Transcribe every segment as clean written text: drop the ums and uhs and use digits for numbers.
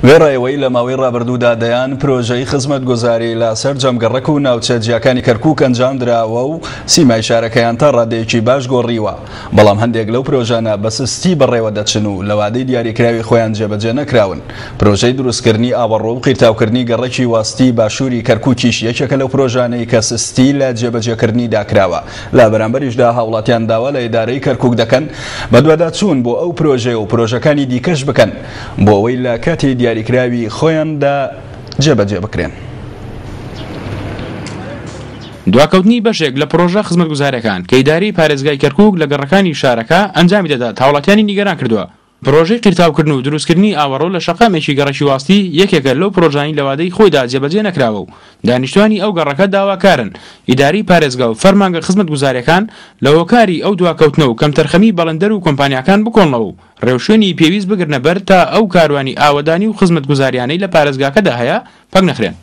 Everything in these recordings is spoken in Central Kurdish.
وێڕای ئەوەی لە ماوەی ڕابردوودا دەیان پرۆژەی خزمەتگوزاری لە سەرجەم گەڕەک و ناوچە جیاکانی کەرکووک ئەنجامدراوە و سیمای شارەکەیان تا ڕادەیەکی باش گۆڕیوە، بەڵام هەندێک لەو پرۆژانە بە سستی بەڕێوە دەچن و لە وادەی دیاریکراوی خۆیان جێبەجێ نەکراون. پرۆژەی دروستکردنی ئاوەڕۆ و قیرتاوکردنی گەڕەکی واستی باشووری کەرکووکیش یەکێکە لەو پرۆژانەی کە سستی لە جێبەجێکردنیدا کراوە. لە بەرامبەریشدا هاوڵاتیان داوا لە ئیدارەی کەرکوک دەکەن بەدواداچوون بۆ ئەو پرۆژەیە و پرۆژەکانی دیکەش بکەن بۆ ئەوەی لە کاتی دیاریکراوی خۆیاندا جێبەجێ بکرێن. دواکەوتنی بەشێک لە پڕۆژە خزمەتگوزارییەکان کە ئیدارەی پارێزگای کەرکوک لە گەڕەکانی شارەکە ئەنجامی دەدات هاوڵاتیانی نیگەران کردووە. پڕۆژەی قیرتاوکردن و دروستکردنی ئاوەڕۆ لە شەقامێکی گەڕەکی واستی یەکێکە لەو پڕۆژانەی لە وادەی خۆیدا جێبەجێ نەکراوە و دانیشتوانی ئەو گەڕەکە داواکارن ئیدارەی پارێزگا و فەرمانگە خزمەتگوزارییەکان لە هۆکاری ئەو دواکەوتنە و کەمتەرخەمی بەڵێندەر و کۆمپانیاکان بکۆڵنەوە و ڕێوشوێنی پێویست بگرنە بەر تا ئەو کاروانی ئاوەدانی و خزمەتگوزاریانەی لە پارێزگاکەدا هەیە پەکنەخرێن.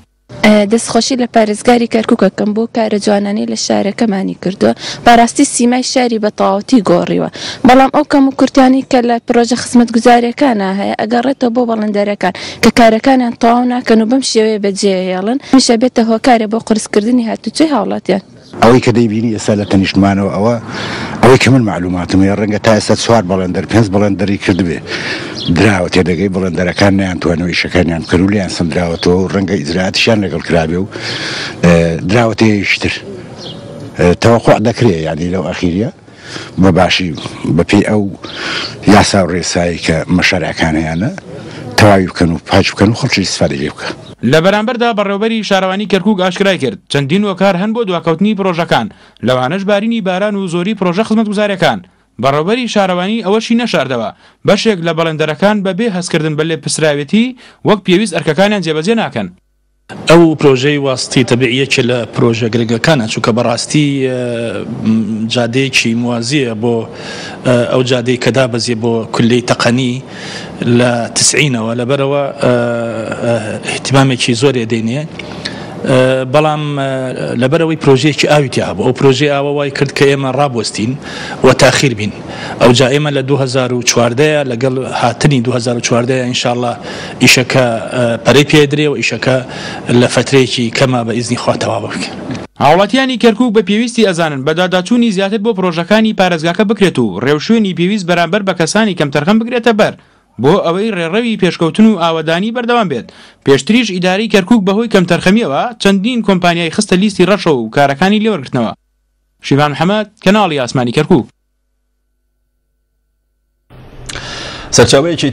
دەستخۆشی لە پارێزگاری کەرکوک ئەکەم بۆ کارە جوانانەی لە شارەکەمانی کردووە، بەڕاستی سیمای شاری بە تەواوەتی گۆڕیوە، بەڵام ئەو کەموکورتیانەی کە لە پرۆژە خزمەتگوزارییەکانا هەیە ئەگەڕێتەوە بۆ بەڵێندەرەکان کە کارەکانیان تەواو ناکەن و بەم شێوەیە بەجێیەهێڵن، هەمیشە بێتە هۆکارێ بۆ قورسکردنی هاتوچۆی هاوڵاتیان. ئەوەی کە دەیبینی ئێستا لە تەنیشتمانەوە ئەوە ئەوەی کە من مەعلوماتم هەیە ڕەنگە تا ئێستا چوار بەڵێندەر پێنج بەڵێندەری کردبێ دراوە تێدەگەی بەڵێندەرەکان نەیانتوانیوە ئیشەکانیان بکەن و لێیان سەندراوەتەوە و ڕەنگە ئیجرائاتیشیان لەگەڵ کرابێ و دراوەتە یەکی تر تەوەقوع دەکرێ یانی لەو ئەخیریە بە باشی بە پێی ئەو یاسا و ڕێسایەی کە مەشارعەکان هەیانە تەواوی بکەن و پاکی بکەن و خەڵکی ئیستفادەی لێ بکا. لە بەرامبەردا بەڕێوەبەری شارەوانی کەرکوک ئاشکرای کرد، چەندین هۆکار هەن بۆ دواکەوتنی پرۆژەکان، لەوانەش بارینی باران و زۆری پرۆژە خزمەتگوزارییەکان. بەڕێوەبەری شارەوانی ئەوەشی نەشاردەوە، بەشێک لە بەڵێندەرەکان بەبێ هەستکردن بە لێپرسراوێتی وەک پێویست ئەرکەکانیان جێبەجێ ناکەن. ئەو پرۆژەی واستی تەبیعی یەکێ لە پرۆژە گرنگەکانە چونکە بەڕاستی جادەیەکی موازیە بۆ ئەو جادەی کە دابەزیە بۆ کولەی تەقەنی لە تسعینەوە لەبەرەوە اهتمامێکی زۆرێ دێنێ بەڵام لەبەرەوەی پرۆژەیەکی ئاوی تیا هەبوو ئەو پرۆژەی ئاوە وای کرد کە ئێمە ڕابوەستین و تاخیر بین ئەوجا ئێمە لە 2014 لەگەڵ هاتنی 2014 ئینشاءاللە ئیشەکە پەرەی پێدرێ و ئیشەکە لە فەترەیەکی کەما بە ئیزنی خوا تەواو بکرێ. هاوڵاتیانی کەرکوک بە پێویستی ئەزانن بەدواداچوونی زیاتر بۆ پرۆژەکانی پارێزگاکە بکرێت و ڕێوشوێنی پێویست بەرامبەر بە کەسانی کەمتەرخەم بگرێتە بەر بۆ ئەوەی ڕێڕەوی پێشکەوتن و ئاوەدانی بەردەوام بێت، پێشتریش ئیدارەی کەرکوک بەهۆی کەمتەرخەمییەوە چەندین کۆمپانیای خستە لیستی ڕەشەوە و کارەکانی لێوەرگرتنەوە. شیڤان محەمەد، کەناڵی ئاسمانی کەرکوک. سەرچاوەیەکی.